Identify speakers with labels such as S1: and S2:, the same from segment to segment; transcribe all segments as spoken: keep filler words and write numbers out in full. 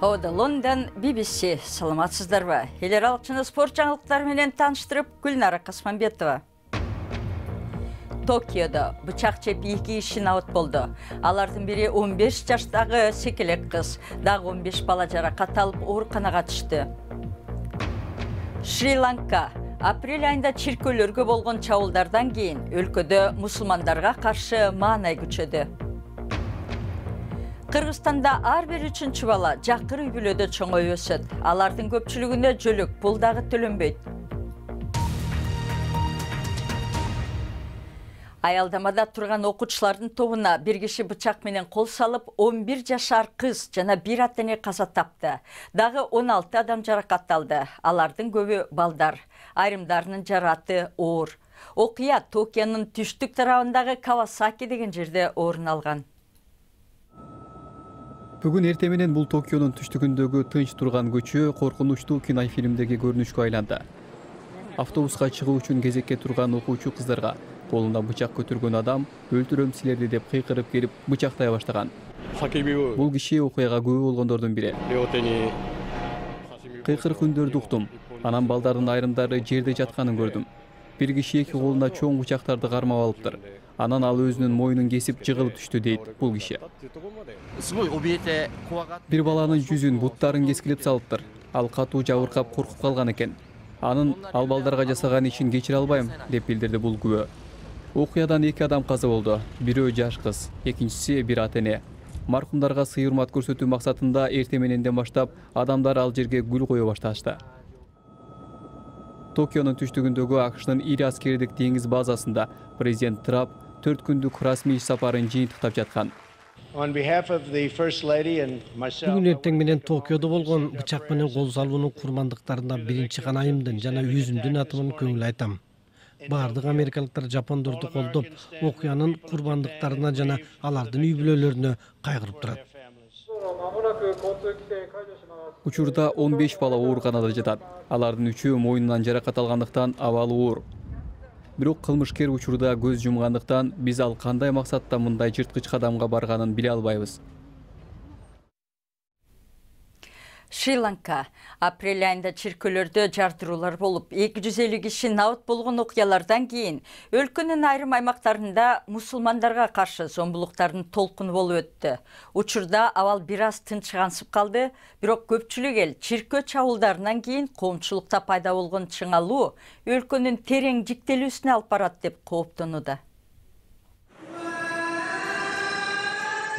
S1: Ода Лондон би би си. Саламатсыздарбы? Эл аралык спорт жаңылыктары менен тааныштырып, Гүлнара Касманбетова. Токиодо бычак жеп эки киши наат болду. Алардын бири он беш жаштагы секелек кыз, дагы он беш бала жаракат алып ооруканага түштү. Шри-Ланка апрель айында чиркөөлөргө болгон чабуулдардан кийин өлкөдө мусулмандарга каршы маанай күчөдү. Кыргызстанда ар бир үчүнчү бала жакыр үй-бүлөдө чоңоюп өсөт. Алардын көпчүлүгүнө жөлөк пул дагы төлөнбөйт. Аялдамада турган окуучулардын тобуна бир киши бычак менен кол салып, он бир жашар кыз жана бир ата-эне каза тапты. Дагы он алты адам жаракат алды. Алардын көбү балдар. Айрымдарынын жараты оор. Окуя Токионун түштүк тарабындагы Кавасаки деген жерде орун алган.
S2: Бүгүн эртең менен бул Токионун түштүгүндөгү тынч турган көчө коркунучтуу кинофильмдеги көрүнүшкө айланды. Автобуска чыгуу үчүн кезекке турган окуучу кыздарга колунда бычак көтөргөн адам өлтүрөм силерди деп кыйкырып келип бычактай баштаган. Бул киши окуяга күбө болгондордун бири. Кыйкырык үндөрдү уктум. Анан балдардын айрымдары жерде жатканын көрдүм. Бир киши эки колунда чоң бычактарды кармап алыптыр. Анан ал өзүнүн мойнун кесип жыгылып түштү дейт бул киши. Бир баланын жүзүн, буттарын кескилеп салыптыр. Ал катуу жабыркап коркуп калган экен. Анын ал балдарга жасаган ишин кечире албайм деп билдирди бул күбө. Окуядан эки адам каза болду. Бирөө жаш кыз, экинчиси бир ата-эне. Маркумдарга сый-урмат көрсөтүү максатында эртең мененден баштап адамдар ал жерге гүл кое башташты. Токионун түштүгүндөгү АКШнын ири аскердик деңиз базасында президент Трамп төрт күндүк расмий иш сапарын жыйынтыктап жаткан.
S3: Бүгүн эртең менен Токиодо болгон бычак менен кол салуунун курмандыктарына биринчи канайымдын жана өзүмдүн атыман көңүл айтам. Бардык америкалыктар жапондорду колдоп, окуянын курмандыктарына жана алардын үй-бүлөлөрүнө кайгырып турат.
S2: Учурда он беш бала ооруканада жатат. Алардын үчөө мойнунан жаракат алгандыктан абалы оор. Бирок кылмышкер учурда көз жумгандыктан биз ал кандай максатта мындай жырткыч кадамга барганын биле албайбыз.
S1: Шри-Ланка апрель айында чиркөөлөрдө жардыруулар болуп, эки жүз элүү киши наат болгон окуялардан кийин өлкөнүн айрым аймактарында мусулмандарга каршы зомбулуктардын толкуну болуп өттү. Учурда абал бир аз тынчыгансып калды, бирок көпчүлүк эл чиркөө чабуулдарынан кийин коомчулукта пайда болгон чыңалуу өлкөнүн терең жиктелүүсүнө алып барат деп кооптонууда.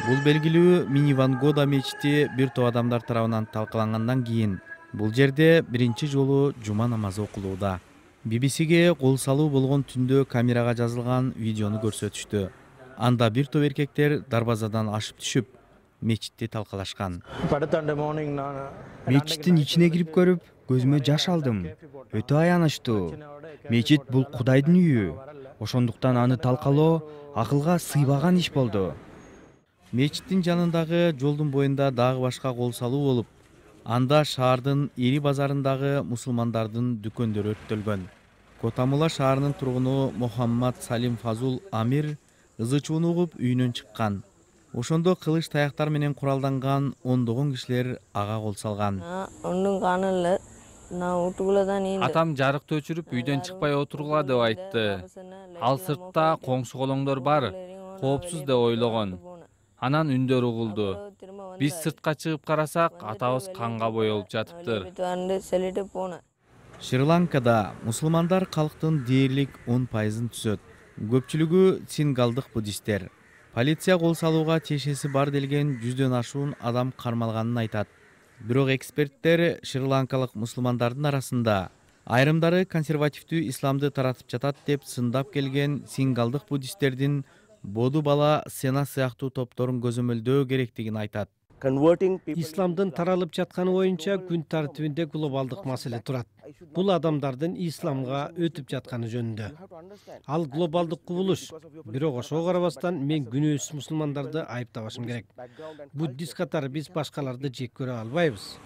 S4: Бул белгилүү Мини-Вангода мечити бир топ адамдар тарабынан талкалангандан кийин бул жерде биринчи жолу жума намазы окулууда. би би сиге кол салуу болгон түндө камерага жазылган видеону көрсөтүштү. Анда бир топ эркектер дарбазадан ашып түшүп, мечитти талкалашкан.
S5: Мечиттин ичине кирип көрүп, көзүмө жаш алдым. Өтө аянычтуу. Мечит бул Кудайдын үйү. Ошондуктан аны талкалоо акылга сыйбаган иш болду.
S4: Мечиттин жанындагы жолдун боюнда дагы башка кол салуу болуп, анда шаардын ири базарындагы мусулмандардын дүкөндөрү өрттөлгөн. Котамыла шаарынын тургуну Мухаммад Салим Фазул Амир ызы чууну угуп үйүнөн чыккан. Ошондо кылыч таяктар менен куралданган ондогон кишилер ага кол салган.
S6: Атам жарыкты өчүрүп үйдөн чыкпай отургула деп айтты. Ал сыртта коңшу колоңдор бар, коопсуз деп ойлогон. Анан үндөр угулду. Биз сыртка чыгып карасак, атабыз канга боелуп жатыптыр.
S4: Шри-Ланкада мусулмандар калктын дээрлик он пайызын түзөт. Көпчүлүгү сингалдык буддисттер. Полиция кол салууга тиешеси бар делген жүздөн ашуун адам кармалганын айтат. Бирок эксперттер шри-ланкалык мусулмандардын арасында айрымдары консервативдүү исламды таратып жатат деп сындап келген сингалдык буддисттердин боду бала сена сыяктуу топторун көзөмөлдөө керектигин айтат.
S3: Исламдын таралып жатканы боюнча күн тартибинде глобалдык маселе турат. Бул адамдардын исламга өтүп жатканы жөнүндө. Ал глобалдык кубулуш. Бирок ошого карабастан мен күнөөсүз мусулмандарды айыптабашым керек. Буддист катары биз башкаларды жек көрө албайбыз.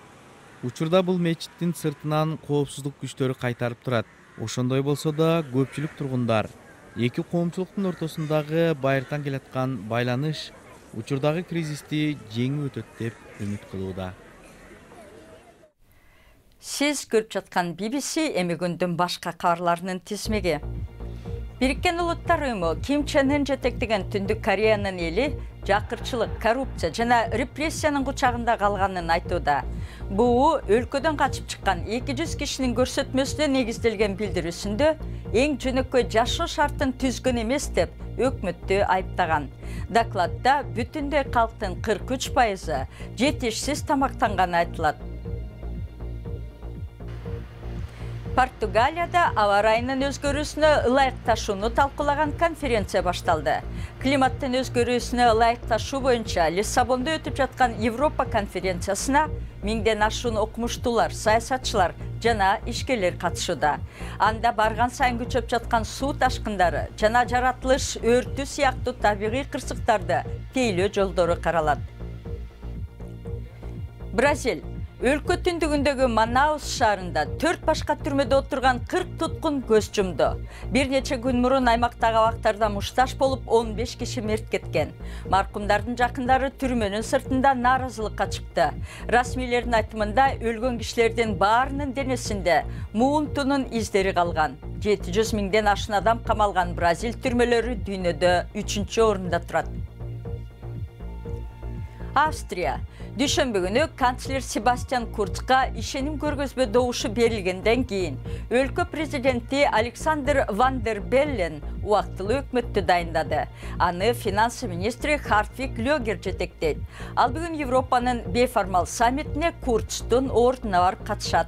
S4: Учурда бул мечиттин сыртынан коопсуздук күчтөрү кайтарып турат. Ошондой болсо да көпчүлүк тургундар эки коомчулуктун ортосундагы байыртан келаткан байланыш учурдагы кризисти жеңип өтөт деп үмүт кылууда.
S1: Сиз көрүп жаткан би би си эми күндүн башка кабарларынын тизмеги. Бириккен Улуттар Уюму Ким Чен Ын жетектеген Түндүк Кореянын эли жакырчылык, коррупция жана репрессиянын кучагында калганын айтууда. Буу өлкөдөн качып чыккан эки жүз кишинин көрсөтмөсүнө негизделген билдирүүсүндө эң жөнөкөй жашоо шартын түзгөн эмес деп өкмөттү айыптаган. Докладда бүтүндөй калктын кырк үч пайызы жетишсиз тамактанганы айтылат. Португалияда аба ырайынын өзгөрүүсүнө ылайыкташууну талкуулаган конференция башталды. Климаттын өзгөрүүсүнө ылайыкташуу боюнча Лиссабондо өтүп жаткан Европа конференциясына миңден ашуун окумуштуулар, саясатчылар жана ишкерлер катышууда. Анда барган сайын күчөп жаткан суу ташкындары жана жаратылыш өртү сыяктуу табигый кырсыктарды тейлөө жолдору каралат. Бразил өлкө түндүгүндөгү Манаус шаарында төрт башка түрмөдө отурган кырк туткун көз жумду. Бир нече күн мурун аймактагы абактарда мушташ болуп он беш киши мерт кеткен. Маркумдардын жакындары түрмөнүн сыртында нааразылыкка чыкты. Расмийлердин айтымында өлгөн кишилердин баарынын денесинде муунтунун издери калган. жети жүз миңден ашуун адам камалган Бразил түрмөлөрү дүйнөдө үчүнчү орунда турат. Австрия дүйшөмбү күнү канцлер Себастьян Курцка ишеним көргөзмө добушу берилгенден кийин өлкө президенти Александр Ван дер Беллен убактылуу өкмөттү дайындады. Аны финансы министри Хартвиг Лёгер жетектейт. Ал бүгүн Европанын бейформал саммитине Курцтун ордуна барып катышат.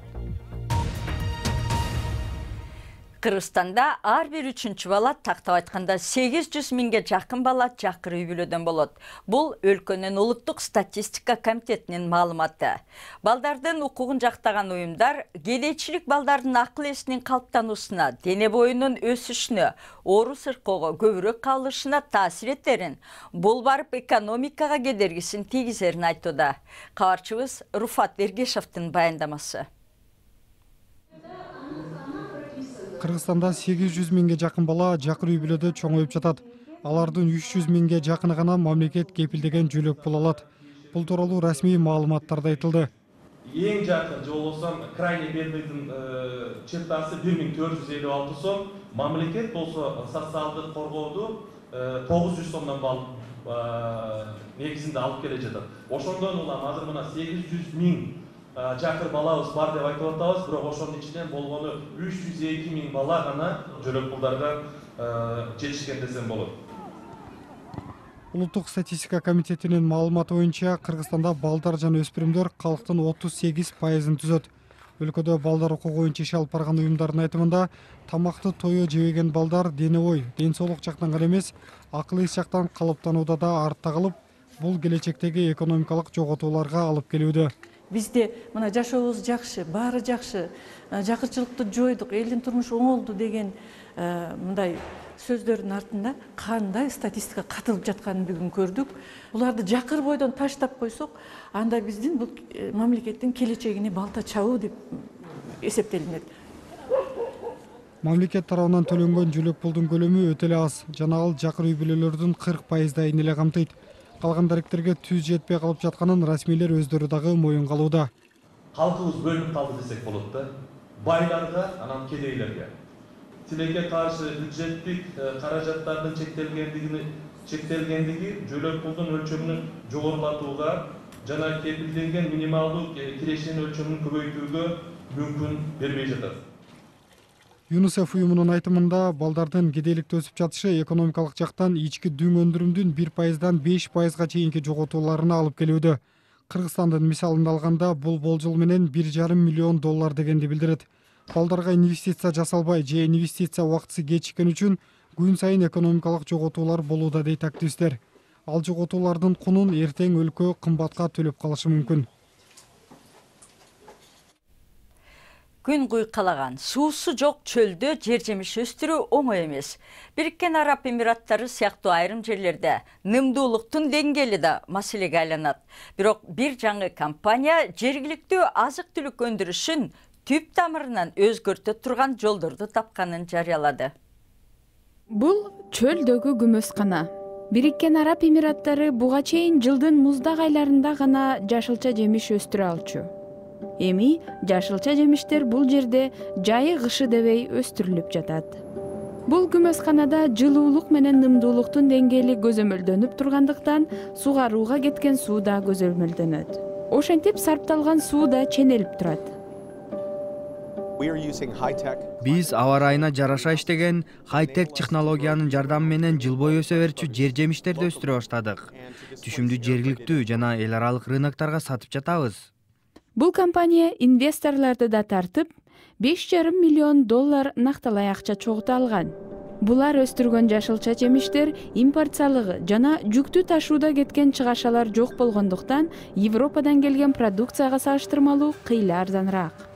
S1: Кыргызстанда ар бир үчүнчү бала, тактап айтканда сегиз жүз миңге жакын бала жакыр үй бүлөдөн болот. Бул өлкөнүн улуттук статистика комитетинин маалыматы. Балдардын укугун жактаган уюмдар кедейчилик балдардын акыл эсинин калыптануусуна, дене боюнун өсүшүнө, оору сыркоого көбүрөөк кабылышына таасир этерин, бул барып экономикага кедергисин тийгизерин айтууда. Кабарчыбыз Руфат Эргешевдин баяндамасы.
S7: Кыргызстанда сегиз жүз миңге жакын бала жакыр үй бүлөдө чоңоюп жатат. Алардын үч жүз миңге жакыны гана мамлекет кепилдеген жөлөк боло алат. Бул тууралуу расмий маалыматтарда айтылды.
S8: Эң жакын же болбосо крайний бедныйдын чертасы бир миң төрт жүз элүү алты сом, мамлекет болсо социалдык коргоодо тогуз жүз сомдон балып негизинде алып келе жатат. Ошондон улам азыр мына сегиз жүз миң жакыр балабыз бар деп айтып атабыз, бирок ошонун ичинен болгону үч жүз эки миң бала гана жөлөк пулдарга жетишкен десем болот.
S7: Улуттук статистика комитетинин маалыматы боюнча Кыргызстанда балдар жана өспүрүмдөр калктын отуз сегиз пайызын түзөт. Өлкөдө балдар укугу боюнча иш алып барган уюмдардын айтымында тамакты тое жебеген балдар дене бой, ден соолук жактан гана эмес, акыл эс жактан калыптанууда да артта калып, бул келечектеги экономикалык жоготууларга алып келүүдө.
S9: Бизде мына жашообуз жакшы, баары жакшы, жакырчылыкты жойдук, элдин турмушу оңолду деген мындай сөздөрдүн артында кандай статистика катылып жатканын бүгүн көрдүк. Буларды жакыр бойдон таштап койсок, анда биздин бул мамлекеттин келечегине балта чабуу деп эсептелинет.
S7: Мамлекет тарабынан төлөнгөн жөлөк пулдун көлөмү өтө эле аз, жана ал жакыр үй бүлөлөрдүн кырк пайыздайын эле камтыйт. Калган даректерге түз жетпей калып жатканын расмийлер өздөрү дагы моюнга алууда.
S8: Калкыбыз бөлүнүп калды десек болот да. Байларга, анан кедейлерге. Тилекке каршы бюджеттик каражаттардын чектелгендигини чектелгендиги жөлөк пулдун өлчөмүн жогорулатууга жана кепилденген минималдуу кирешенин өлчөмүн көбөйтүүгө мүмкүн бербей жатат.
S7: ЮНИСЕФ уюмунун айтымында балдардын кедейликте өсүп жатышы экономикалык жактан ички дүң өндүрүмдүн бир пайыздан беш пайызга чейинки жоготууларына алып келүүдө. Кыргызстандын мисалын алганда бул болжол менен бир жарым миллион доллар дегенди билдирет. Балдарга инвестиция жасалбай же инвестиция убактысы кечиккен үчүн күн сайын экономикалык жоготуулар болууда дейт активисттер. Ал жоготуулардын кунун эртең өлкө кымбатка төлөп калышы мүмкүн.
S1: Күн куйкалаган, суусу жок чөлдө жер жемиш өстүрүү оңой эмес. Бириккен Араб Эмираттары сыяктуу айрым жерлерде нымдуулуктун деңгээли да маселеге айланат. Бирок бир жаңы компания жергиликтүү азык-түлүк өндүрүшүн түп тамырынан өзгөртө турган жолдорду тапканын жарыялады.
S10: Бул чөлдөгү күмөскана. Бириккен Араб Эмираттары буга чейин жылдын муздак айларында гана жашылча жемиш өстүрө алчу. Эми жашылча жемиштер бул жерде жайы кышы дебей өстүрүлүп жатат. Бул күмөсканада жылуулук менен нымдуулуктун деңгээли көзөмөлдөнүп тургандыктан сугарууга кеткен суу да көзөмөлдөнөт. Ошентип сарпталган суу да ченелип турат.
S5: Биз аба ырайына жараша иштеген хай-тек технологиянын жардамы менен жыл бою өсө берчү жер жемиштерди өстүрө баштадык. Түшүмдү жергиликтүү жана эл аралык рынокторго сатып жатабыз.
S10: Бул компания инвесторлорду да тартып, беш жарым миллион доллар накталай акча чогулта алган. Булар өстүргөн жашылча жемиштер импорт салыгы жана жүктү ташууда кеткен чыгашалар жок болгондуктан Европадан келген продукцияга салыштырмалуу кыйла арзаныраак.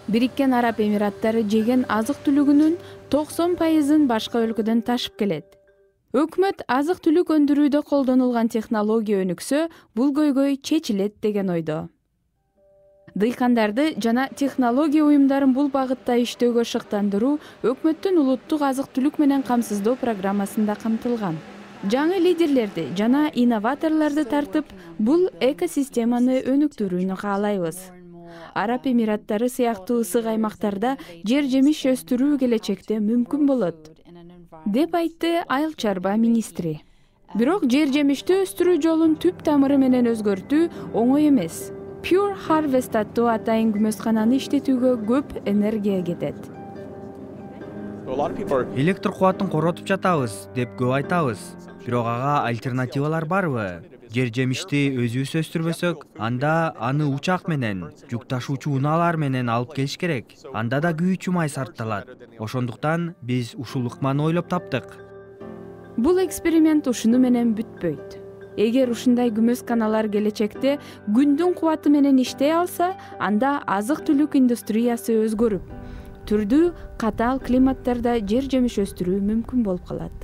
S10: Бириккен Араб Эмираттары жеген азык-түлүгүнүн токсон пайызын башка өлкөдөн ташып келет. Өкмөт азык-түлүк өндүрүүдө колдонулган технология өнүксө, бул көйгөй чечилет деген ойдо. Дыйкандарды жана технология уюмдарын бул багытта иштөөгө шыктандыруу өкмөттүн улуттук азык-түлүк менен камсыздоо программасында камтылган. Жаңы лидерлерди жана инноваторлорду тартып, бул экосистеманы өнүктүрүүнү каалайбыз. Араб Эмираттары сыяктуу ысык аймактарда жер жемиш өстүрүү келечекте мүмкүн болот, деп айтты Айыл чарба министри. Бирок жер жемишти өстүрүү жолун түп тамыры менен өзгөртүү оңой эмес. Pure Harvest аттуу атайын күмөскананы иштетүүгө көп энергия кетет.
S5: Электр кубатын коротуп жатабыз деп көп айтабыз. Бирок ага альтернативалар барбы? Жер жемишти өзүбүз өстүрбөсөк, анда аны учак менен, жүк ташуучу унаалар менен алып келиш керек. Анда да күйүүчү май сарпталат. Ошондуктан биз ушул ыкманы ойлоп таптык.
S10: Бул эксперимент ушуну менен бүтпөйт. Эгер ушундай күмөсканалар келечекте күндүн кубаты менен иштей алса, анда азык-түлүк индустриясы өзгөрүп, түрдүү катаал климаттарда жер жемиш өстүрүү мүмкүн болуп калат.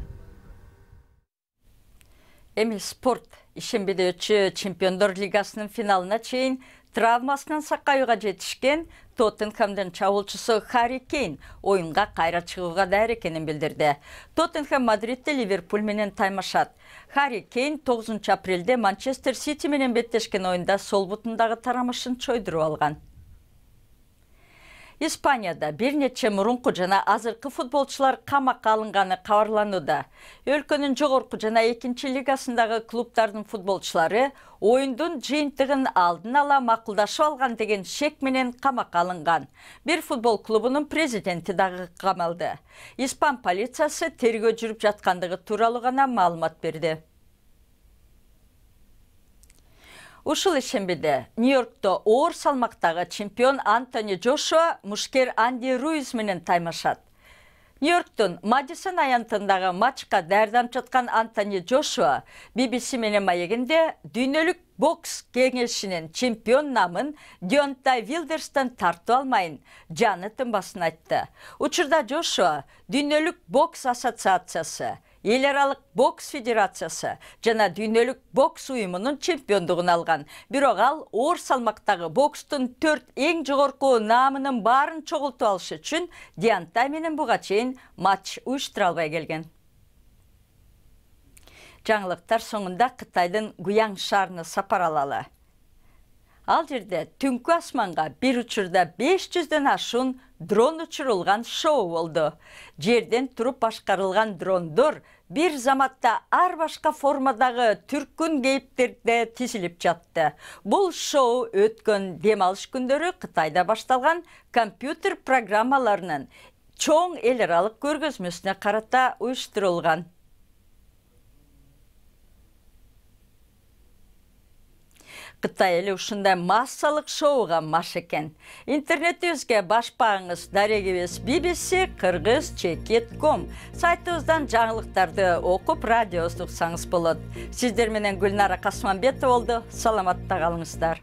S1: Эми спорт. Ишембиде өтчү Чемпиондор лигасынын финалына чейин травмасынан сакаюуга жетишкен Тоттенхэмдин чабуулчусу Харри Кейн оюнга кайра чыгууга даяр экенин билдирди. Тоттенхэм Мадридде Ливерпуль менен таймашат. Харри Кейн тогузунчу апрелде Манчестер Сити менен беттешкен оюнда сол бутундагы тарамышын чойдуруп алган. Испанияда бир нече мурунку жана азыркы футболчулар камакка алынганы кабарланууда. Өлкөнүн жогорку жана экинчи лигасындагы клубдардын футболчулары оюндун жыйынтыгын алдын ала макулдашып алган деген шек менен камакка алынган. Бир футбол клубунун президенти дагы камалды. Испан полициясы тергөө жүрүп жаткандыгы тууралуу гана маалымат берди. Ушул ишембиде Нью-Йоркто оор салмактагы чемпион Антони Джошуа мушкер Анди Руиз менен таймашат. Нью-Йорктун Мадисон аянтындагы матчка даярданып жаткан Антони Джошуа би би си менен маегинде дүйнөлүк бокс кеңешинин чемпион намын Дионтай Вилдерстен тартып алмайын, жаны тынбасын айтты. Учурда Джошуа дүйнөлүк бокс ассоциациясы, эл аралык бокс федерациясы жана дүйнөлүк бокс уюмунун чемпиондугун алган. Бирок ал оор салмактагы бокстун төрт эң жогорку наамынын баарын чогултуп алыш үчүн Дионтай менен буга чейин матч уюштура албай келген. Жаңылыктар соңунда Кытайдын Гуяң шаарына сапар алалы. Ал жерде түнкү асманга бир учурда беш жүздөн ашуун дрон учурулган шоу болду. Жерден туруп башкарылган дрондор бир заматта ар башка формадагы түркүн кейиптерде тизилип жатты. Бул шоу өткөн дем алыш күндөрү Кытайда башталган компьютер программаларынын чоң эл аралык көргөзмөсүнө карата уюштурулган. Кытай эли ушундай массалык шоуга маш экен. Интернетибизге баш багыңыз дарегибиз би би си кыргыз чекит ком сайтыбыздан жаңылыктарды окуп радиобузду уксаңыз болот. Сиздер менен Гүлнара Касманбетова болду. Саламатта калыңыздар.